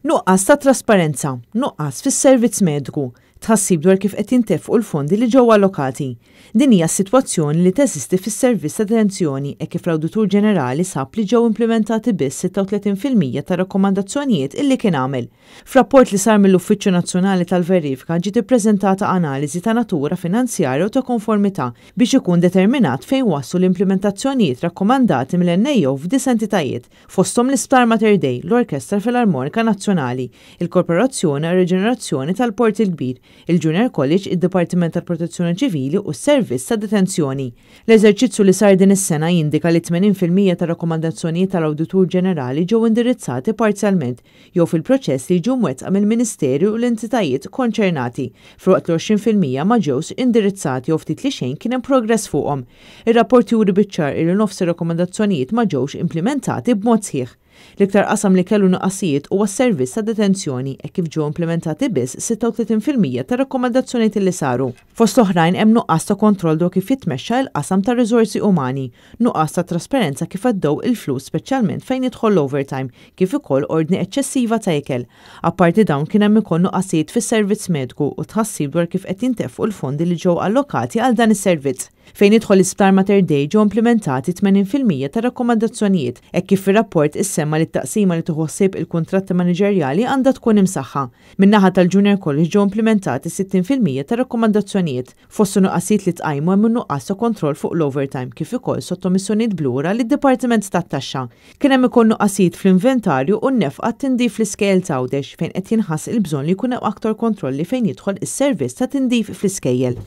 Nuqqas ta' trasparenza, nuqqas fis-servizz mediku, tħassib dwar kif qed jintefqu l-fondi li ġew allokati. Din hija s-sitwazzjoni li teżisti fis-servizz ta' detenzjoni hekk kif l-Awditur Ġenerali sab li ġew implimentati biss 36% tar-rakkomandazzjonijiet illi kien għamel. F'rapport li sar mill-Uffiċċju Nazzjonali tal-Verifika ġiet ippreżentata analiżi ta' natura finanzjarja u ta' konformità biex ikun determinat fejn waslu l-implimentazzjonijiet rakkomandati mill-NAO f'disa' entitajiet, fosthom l-Isptar Mater Dei, l-Orkestra Filarmonika Nazzjonali, il-Korporazzjoni għar-Riġenerazzjoni tal-Port il-Kbir, il-Junior College, id-Dipartiment tal-Protezzjoni Ċivili u s-Servizz ta' Detenzjoni. L-eżerċizzju li sar din is-sena jindika li 80% tar-rakkomandazzjonijiet tal-Awditur Ġenerali ġew indirizzati parzjalment jew fil-proċess li jiġu mwettqa mill-Ministeri u l-entitajiet konċernati, filwaqt li 20% ma ġewx indirizzati jew ftit li xejn kien hemm progress fuqhom. Ir-rapport juri biċ-ċar illi nofs ir-rakkomandazzjonijiet ma ġewx implimentati b'mod sħiħ. L-iktar qasam li kellu nuqqasijiet huwa s-servizz ta' detenzjoni hekk kif ġew implimentati biss 36% tar-rakkomandazzjonijiet li saru. Fost l-oħrajn hemm nuqqas ta' kontroll dwar kif jitmexxa l-qasam tar-riżorsi umani, nuqqas ta' trasparenza kif għaddew il-flus speċjalment fejn jidħol l-overtime, kif ukoll ordni eċċessiva ta' ikel. Apparti dawn kien hemm ukoll nuqqasijiet fis-servizz mediku u tħassib dwar kif qed jintefqu l-fondi li ġew allokati għal dan is-servizz. Fejn jidħol l-Isptar Mater Dei ġew implimentati 80% tar-rakkomandazzjonijiet hekk kif fir-rapport issemma li t-taqsima li tieħu ħsieb il-kuntratti maniġerjali għandha tkun imsaħħa. Min-naħa tal-Junior College ġew implimentati 60% tar-rakkomandazzjonijiet. Fost in-nuqqasijiet li tqajmu hemm in-nuqqas ta' kontroll fuq l-overtime kif ukoll sottomissjonijiet b'lura lid-Dipartiment tat-Taxxa. Kien hemm ukoll nuqqasijiet fl-inventarju u n-nefqa għat-tindif fl-iskejjel t'Għawdex fejn qed jinħass il-bżonn li jkun hemm aktar kontrolli fejn jidħol is-servizz ta' tindif fl-iskejjel.